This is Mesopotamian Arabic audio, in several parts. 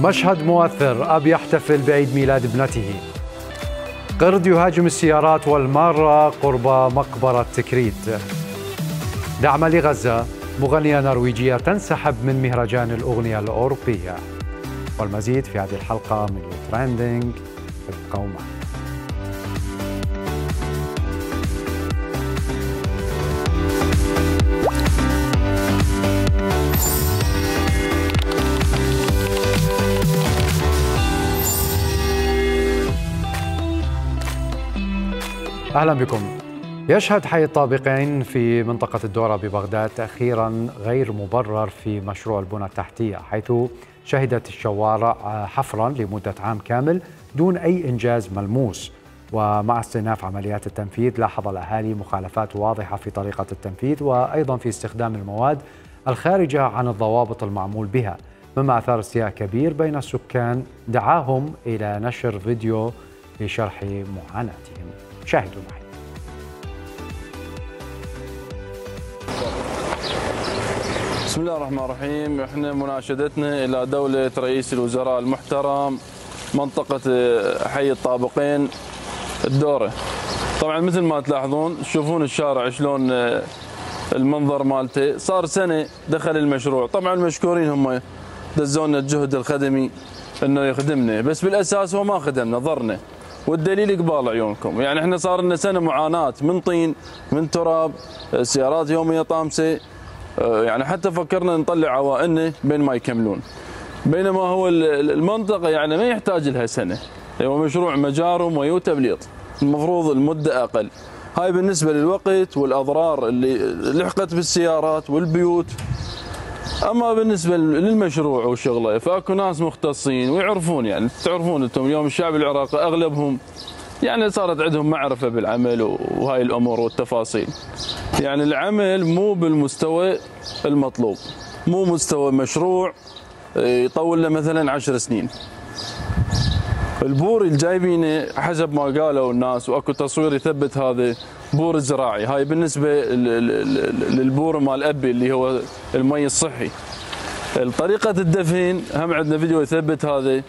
مشهد مؤثر، أب يحتفل بعيد ميلاد ابنته. قرد يهاجم السيارات والمارة قرب مقبرة تكريت. دعم لغزة، مغنية نرويجية تنسحب من مهرجان الأغنية الأوروبية. والمزيد في هذه الحلقة من تريندينج. ابقوا معنا. أهلا بكم. يشهد حي الطابقين في منطقة الدورة ببغداد تأخيرا غير مبرر في مشروع البنى التحتية، حيث شهدت الشوارع حفرا لمدة عام كامل دون أي إنجاز ملموس. ومع استئناف عمليات التنفيذ لاحظ الأهالي مخالفات واضحة في طريقة التنفيذ وأيضا في استخدام المواد الخارجة عن الضوابط المعمول بها، مما أثار استياء كبير بين السكان دعاهم إلى نشر فيديو لشرح معاناتهم. شاهدوا معي. بسم الله الرحمن الرحيم. احنا مناشدتنا الى دولة رئيس الوزراء المحترم منطقة حي الطابقين الدورة. طبعا مثل ما تلاحظون تشوفون الشارع شلون المنظر مالته، صار سنة دخل المشروع. طبعا مشكورين هم دزونا الجهد الخدمي انه يخدمنا، بس بالاساس هو ما خدمنا، ضرنا، والدليل قبال عيونكم. يعني احنا صار لنا سنه معاناه من طين، من تراب، سيارات يوميه طامسه، يعني حتى فكرنا نطلع عوائلنا بين ما يكملون، بينما هو المنطقه يعني ما يحتاج لها سنه، هو مشروع مجار ومي وتبليط، المفروض المده اقل. هاي بالنسبه للوقت والاضرار اللي لحقت بالسيارات والبيوت. اما بالنسبه للمشروع وشغله فاكو ناس مختصين ويعرفون، يعني تعرفون انتم اليوم الشعب العراقي اغلبهم يعني صارت عندهم معرفه بالعمل وهاي الامور والتفاصيل. يعني العمل مو بالمستوى المطلوب، مو مستوى مشروع يطول له مثلا 10 سنين. البور اللي جايبينه حسب ما قالوا الناس واكو تصوير يثبت هذا بور زراعي. هاي بالنسبه للبور مال ابي اللي هو المي الصحي. طريقه الدفن هم عندنا فيديو يثبت هذا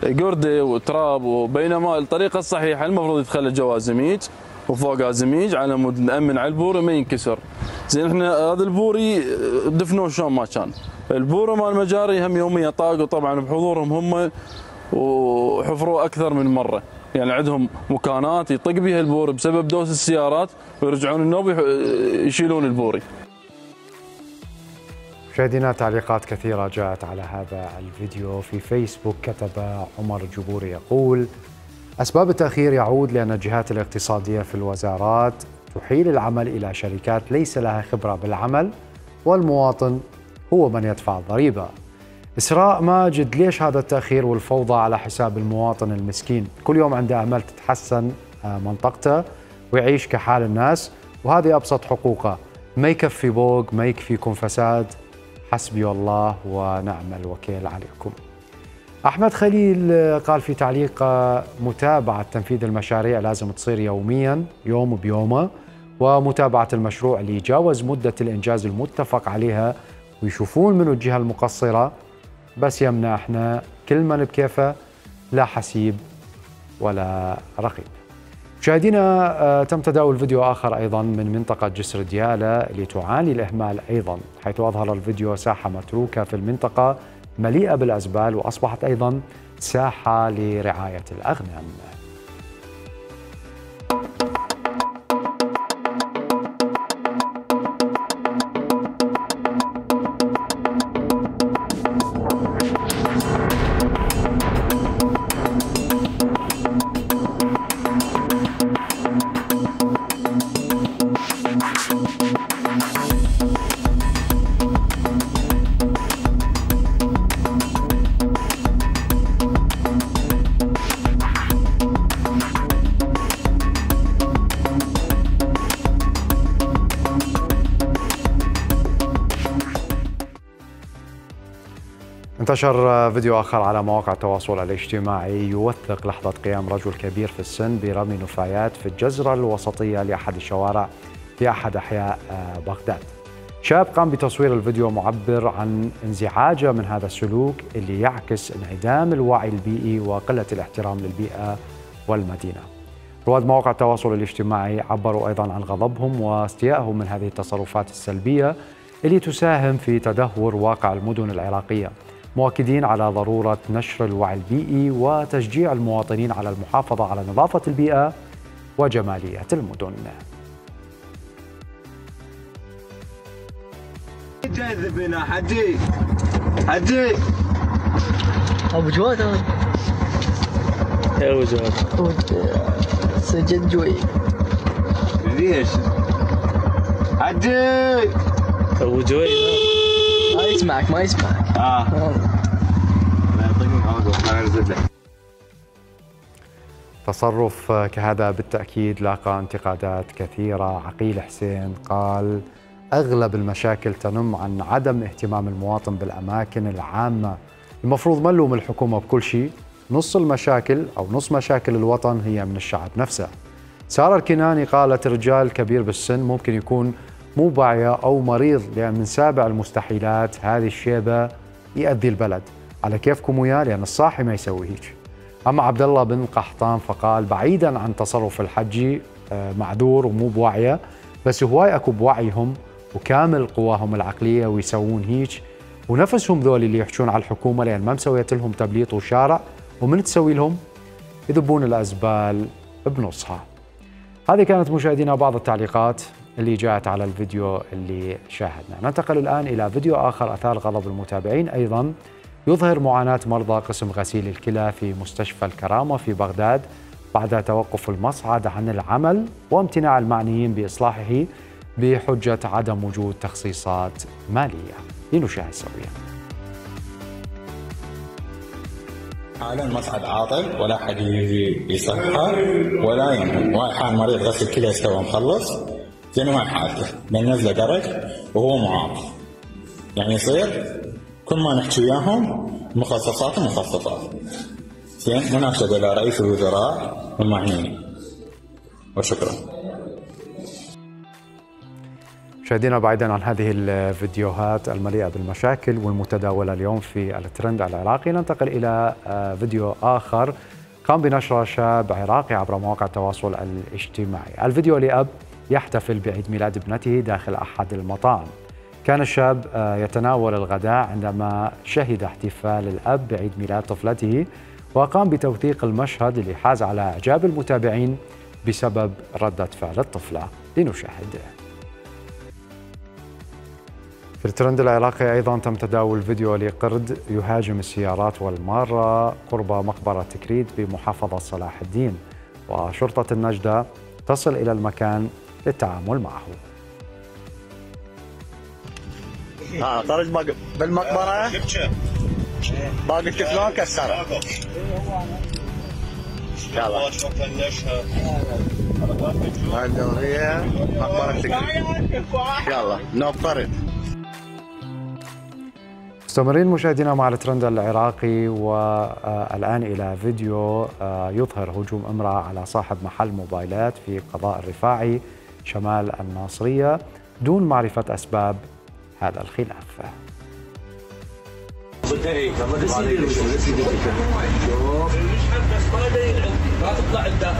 قرده وتراب، وبينما الطريقه الصحيحه المفروض يتخلى جوازميج وفوقها زميج على مود نامن على البور ما ينكسر. زين احنا هذا البوري دفنوه شلون ما كان. البور مال المجاري هم يوميا طاقوا طبعا بحضورهم هم، وحفروا اكثر من مره، يعني عندهم مكانات يطق بها البور بسبب دوس السيارات ويرجعون النوب يشيلون البوري. مشاهدينا تعليقات كثيرة جاءت على هذا الفيديو في فيسبوك. كتب عمر الجبوري يقول: أسباب التأخير يعود لأن الجهات الاقتصادية في الوزارات تحيل العمل إلى شركات ليس لها خبرة بالعمل، والمواطن هو من يدفع الضريبة. إسراء ماجد: ليش هذا التأخير والفوضى على حساب المواطن المسكين؟ كل يوم عنده أمل تتحسن منطقته ويعيش كحال الناس، وهذه أبسط حقوقه. ما يكفي بوق، ما يكفيكم فساد. حسبي الله ونعم الوكيل عليكم. أحمد خليل قال في تعليق: متابعة تنفيذ المشاريع لازم تصير يوميا، يوم بيومه، ومتابعة المشروع اللي يجاوز مدة الإنجاز المتفق عليها ويشوفون منو الجهة المقصرة، بس يمنا احنا كل من بكيفه، لا حسيب ولا رقيب. مشاهدينا تم تداول فيديو آخر أيضا من منطقة جسر ديالى اللي تعاني الإهمال أيضا، حيث أظهر الفيديو ساحة متروكة في المنطقة مليئة بالأزبال، وأصبحت أيضا ساحة لرعاية الأغنام. انتشر فيديو آخر على مواقع التواصل الاجتماعي يوثق لحظة قيام رجل كبير في السن برمي نفايات في الجزرة الوسطية لأحد الشوارع في أحد أحياء بغداد. شاب قام بتصوير الفيديو معبر عن انزعاجه من هذا السلوك اللي يعكس انعدام الوعي البيئي وقلة الاحترام للبيئة والمدينة. رواد مواقع التواصل الاجتماعي عبروا أيضا عن غضبهم واستيائهم من هذه التصرفات السلبية اللي تساهم في تدهور واقع المدن العراقية، مؤكدين على ضرورة نشر الوعي البيئي وتشجيع المواطنين على المحافظة على نظافة البيئة وجمالية المدن. جاذبنا حجي ابو جواد هذا يا ابو جواد سجد جوي ليش حجي ابو جوي ما يسمعك ما يسمعك. لا يعطيكم العافيه ما نزل لك. تصرف كهذا بالتأكيد لاقى انتقادات كثيرة. عقيل حسين قال: أغلب المشاكل تنم عن عدم اهتمام المواطن بالأماكن العامة، المفروض ما نلوم الحكومة بكل شيء، نص المشاكل أو نص مشاكل الوطن هي من الشعب نفسه. سارة الكناني قالت: رجال كبير بالسن ممكن يكون مو باعية أو مريض، لأن من سابع المستحيلات هذه الشيبة يأذي البلد، على كيفكم وياه لأن الصاحي ما يسوي هيك. أما عبد الله بن قحطان فقال: بعيدا عن تصرف الحجي معذور ومو بوعيه، بس هواي اكو بوعيهم وكامل قواهم العقليه ويسوون هيك، ونفسهم ذول اللي يحجون على الحكومه لان ما مسويت لهم تبليط وشارع، ومن تسوي لهم يذبون الازبال بنصها. هذه كانت مشاهدينا بعض التعليقات اللي جاءت على الفيديو اللي شاهدنا. ننتقل الان الى فيديو اخر اثار غضب المتابعين، ايضا يظهر معاناه مرضى قسم غسيل الكلى في مستشفى الكرامه في بغداد بعد توقف المصعد عن العمل وامتناع المعنيين بإصلاحه بحجة عدم وجود تخصيصات مالية. لنشاهد سويا. حاليا المصعد عاطل ولا حد يجي يصحى ولا ينهم، واحد حال مريض غسل كلى استوى مخلص زين ما حالته بننزله درج وهو معاق، يعني يصير كل ما نحكي وياهم مخصصات زين. مناشدة إلى رئيس الوزراء والمعنيين وشكرا. مشاهدينا، بعيدا عن هذه الفيديوهات المليئة بالمشاكل والمتداولة اليوم في الترند العراقي، ننتقل إلى فيديو آخر قام بنشره شاب عراقي عبر مواقع التواصل الاجتماعي. الفيديو لأب يحتفل بعيد ميلاد ابنته داخل أحد المطاعم. كان الشاب يتناول الغداء عندما شهد احتفال الأب بعيد ميلاد طفلته، وقام بتوثيق المشهد اللي حاز على إعجاب المتابعين بسبب ردة فعل الطفلة. لنشاهد. في الترند العراقي أيضا تم تداول فيديو لقرد يهاجم السيارات والمارة قرب مقبرة تكريت بمحافظة صلاح الدين، وشرطة النجدة تصل إلى المكان للتعامل معه. خرج بالمقبرة باقي التفلون كسره. يلا هذه هي مقبرة تكريت. يلا نوفرت. مستمرين مشاهدينا مع الترند العراقي، والآن إلى فيديو يظهر هجوم امرأة على صاحب محل موبايلات في قضاء الرفاعي شمال الناصرية دون معرفة أسباب هذا الخلاف.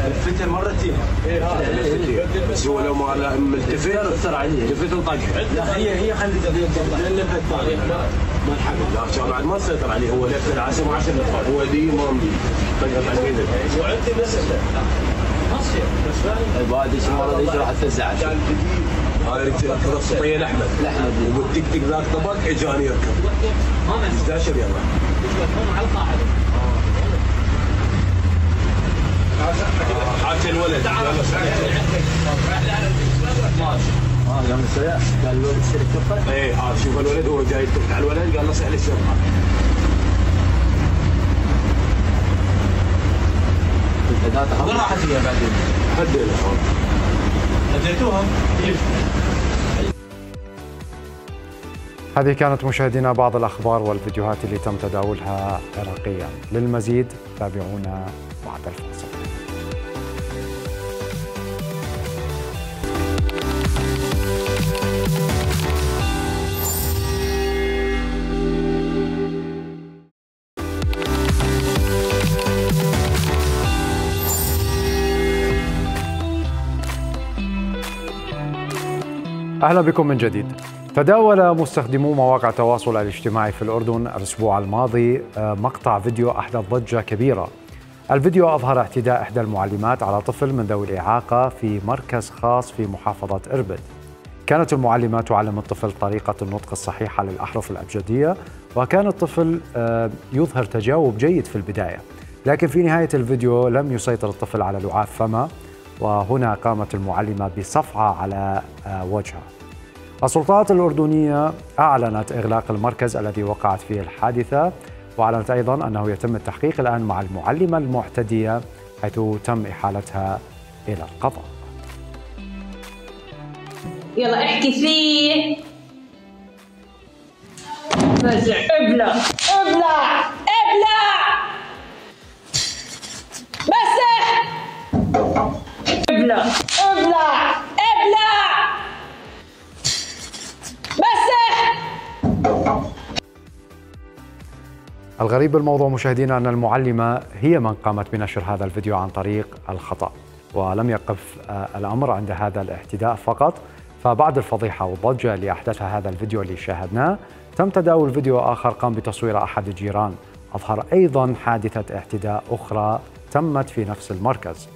الفتر مرتين بس هو لو ما ملتفت اثر عليه لفت وطقها. لا هي خلت لفت ما الحمد لله بعد ما سيطر عليه، هو لف العسل و10 نقاط، هو ديما طقت على اليمين. وعندي مسألة مصير بس فاهم بعد ايش المره دي راح تفزع هاي ركض الصبيان احمد والتك ذاك طبق اجاني يركب ما 11 يلا على القاعده حاكي الولد قام السريع قال له اشتري الشرطه. ايه شوف الولد هو جاي يتك على الولد قال له سأل الشرطه. وين راحت هي بعدين؟ هديتوها. هذه كانت مشاهدينا بعض الأخبار والفيديوهات اللي تم تداولها عراقيا. للمزيد تابعونا بعد الفاصل. أهلا بكم من جديد. تداول مستخدمو مواقع التواصل الاجتماعي في الأردن الأسبوع الماضي مقطع فيديو أحدث ضجة كبيرة. الفيديو أظهر اعتداء إحدى المعلمات على طفل من ذوي الإعاقة في مركز خاص في محافظة إربد. كانت المعلمة تعلم الطفل طريقة النطق الصحيحة للأحرف الأبجدية، وكان الطفل يظهر تجاوب جيد في البداية، لكن في نهاية الفيديو لم يسيطر الطفل على لعاب فمه، وهنا قامت المعلمة بصفعة على وجهه. السلطات الأردنية أعلنت إغلاق المركز الذي وقعت فيه الحادثة، وأعلنت أيضاً أنه يتم التحقيق الآن مع المعلمة المعتدية حيث تم إحالتها إلى القضاء. يلا احكي فيه. فزع ابلع ابلع ابلع مسح ابلع ابلع ابلع مسح. الغريب بالموضوع مشاهدينا أن المعلمة هي من قامت بنشر هذا الفيديو عن طريق الخطأ، ولم يقف الأمر عند هذا الاعتداء فقط، فبعد الفضيحة والضجة اللي أحدثها هذا الفيديو اللي شاهدناه، تم تداول فيديو آخر قام بتصوير أحد الجيران أظهر أيضا حادثة اعتداء أخرى تمت في نفس المركز.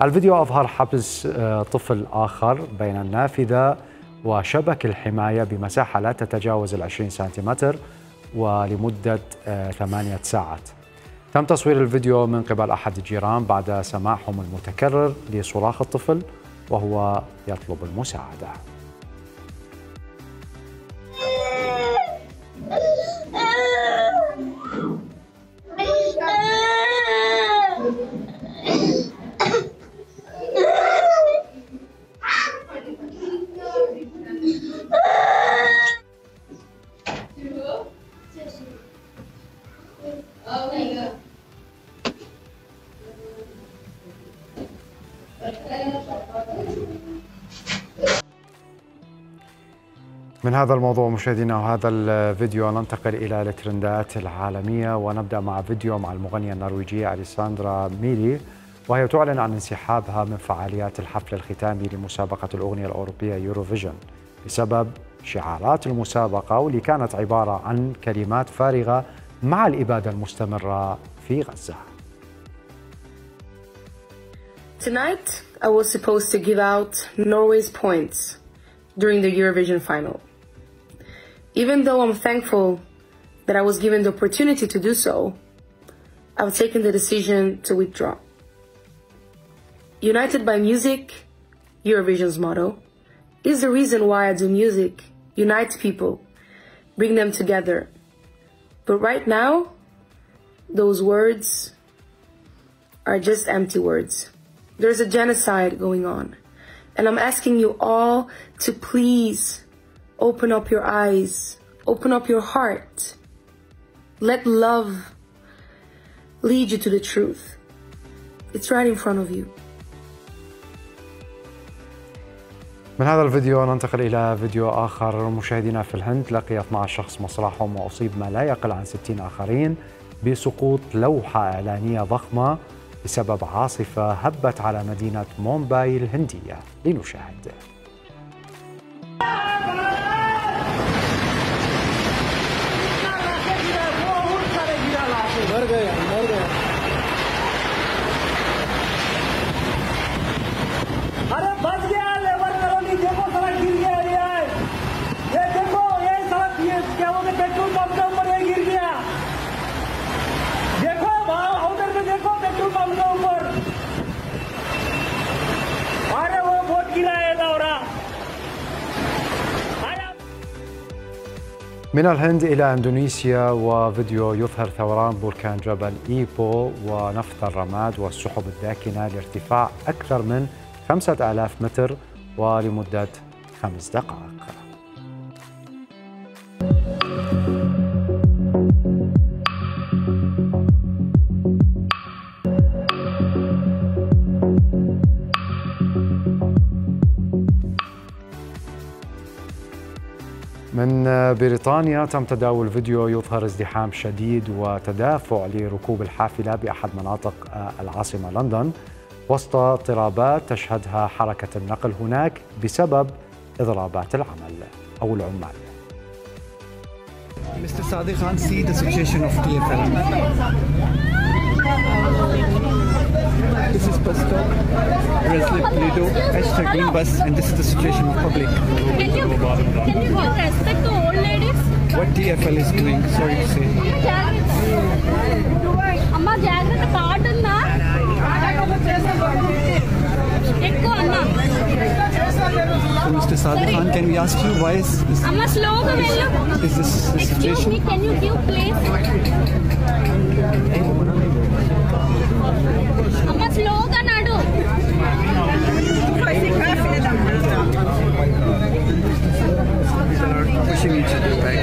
الفيديو أظهر حبس طفل آخر بين النافذة وشبك الحماية بمساحة لا تتجاوز 20 سنتيمتر ولمدة 8 ساعات. تم تصوير الفيديو من قبل أحد الجيران بعد سماعهم المتكرر لصراخ الطفل وهو يطلب المساعدة. من هذا الموضوع مشاهدينا وهذا الفيديو ننتقل إلى الترندات العالمية، ونبدأ مع فيديو مع المغنية النرويجية أليساندرا ميلي، وهي تعلن عن انسحابها من فعاليات الحفل الختامي لمسابقة الأغنية الأوروبية يوروفيجن بسبب شعارات المسابقة واللي كانت عبارة عن كلمات فارغة مع الإبادة المستمرة في غزة. Tonight, I was supposed to give out Norway's points during the Eurovision final. Even though I'm thankful that I was given the opportunity to do so, I've taken the decision to withdraw. United by music, Eurovision's motto, is the reason why I do music, unite people, bring them together. But right now, those words are just empty words. There's a genocide going on. And I'm asking you all to please open up your eyes, open up your heart. Let love lead you to the truth. It's right in front of you. من هذا الفيديو ننتقل إلى فيديو آخر. مشاهدينا في الهند لقي 12 شخص مصرعهم وأصيب ما لا يقل عن 60 آخرين بسقوط لوحة إعلانية ضخمة بسبب عاصفة هبت على مدينة مومباي الهندية. لنشاهد. من الهند إلى إندونيسيا، وفيديو يظهر ثوران بركان جبل إيبو ونفث الرماد والسحب الداكنة لارتفاع أكثر من 5000 متر ولمدة 5 دقائق. من بريطانيا تم تداول فيديو يظهر ازدحام شديد وتدافع لركوب الحافلة بأحد مناطق العاصمة لندن وسط اضطرابات تشهدها حركة النقل هناك بسبب إضرابات العمل أو العمال. Mr. Sadiq Khan, see the situation of TFL. This is bus stop, Breslip, Lido, #green bus, and this is the situation of public. Can you give respect to old ladies? What TFL is doing, sorry to say. Amma jagrata card unna ekko anna. So Mr. Sadiq Khan, can we ask you why is this? Amma slow ga vellu. Is this the situation? Excuse me, can you give place? Amma slow ga nadu. Pushing each other back.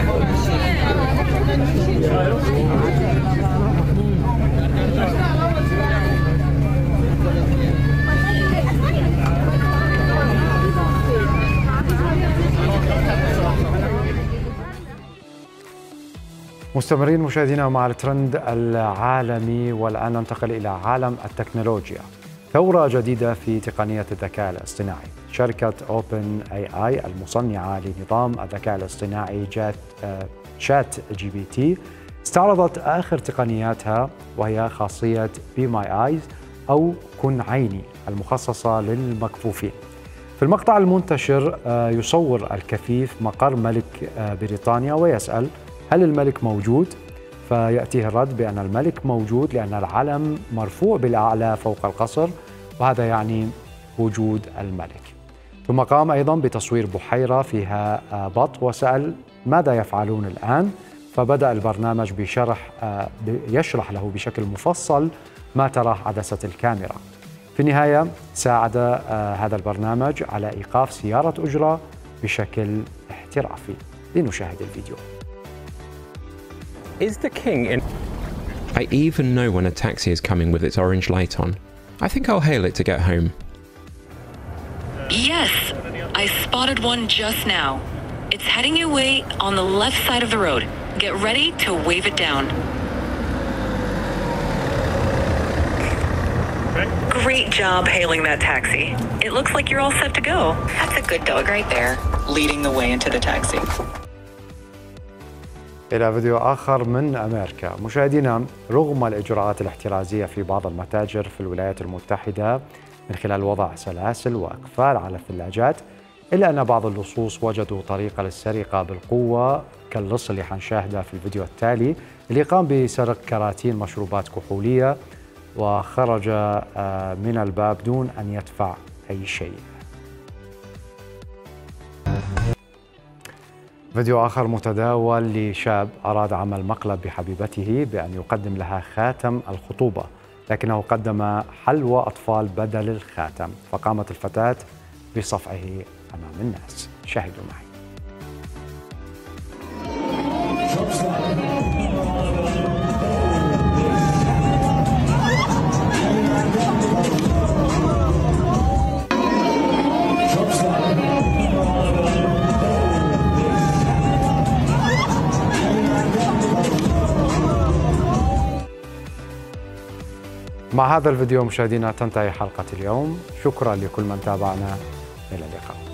مستمرين مشاهدينا مع الترند العالمي، والآن ننتقل إلى عالم التكنولوجيا. ثورة جديدة في تقنية الذكاء الاصطناعي. شركة OpenAI المصنعة لنظام الذكاء الاصطناعي شات جي بي تي استعرضت آخر تقنياتها، وهي خاصية Be My Eyes أو كن عيني المخصصة للمكفوفين. في المقطع المنتشر يصور الكفيف مقر ملك بريطانيا ويسأل: هل الملك موجود؟ فيأتيه الرد بأن الملك موجود لأن العلم مرفوع بالأعلى فوق القصر، وهذا يعني وجود الملك. ثم قام أيضا بتصوير بحيرة فيها بط وسأل: ماذا يفعلون الآن؟ فبدأ البرنامج يشرح له بشكل مفصل ما تراه عدسة الكاميرا. في النهاية ساعد هذا البرنامج على إيقاف سيارة أجرة بشكل احترافي. لنشاهد الفيديو. Is the king in? I even know when a taxi is coming with its orange light on. I think I'll hail it to get home. Yes, I spotted one just now. It's heading your way on the left side of the road. Get ready to wave it down. Great job hailing that taxi. It looks like you're all set to go. That's a good dog right there, leading the way into the taxi. إلى فيديو آخر من أمريكا. مشاهدينا، رغم الإجراءات الاحترازية في بعض المتاجر في الولايات المتحدة من خلال وضع سلاسل وأقفال على الثلاجات، إلا أن بعض اللصوص وجدوا طريقة للسرقة بالقوة، كاللص اللي حنشاهده في الفيديو التالي، اللي قام بسرق كراتين مشروبات كحولية وخرج من الباب دون أن يدفع أي شيء. فيديو آخر متداول لشاب أراد عمل مقلب بحبيبته بأن يقدم لها خاتم الخطوبة، لكنه قدم حلوى أطفال بدل الخاتم، فقامت الفتاة بصفعه أمام الناس. شاهدوا معي. مع هذا الفيديو مشاهدينا تنتهي حلقة اليوم. شكرا لكل من تابعنا. إلى اللقاء.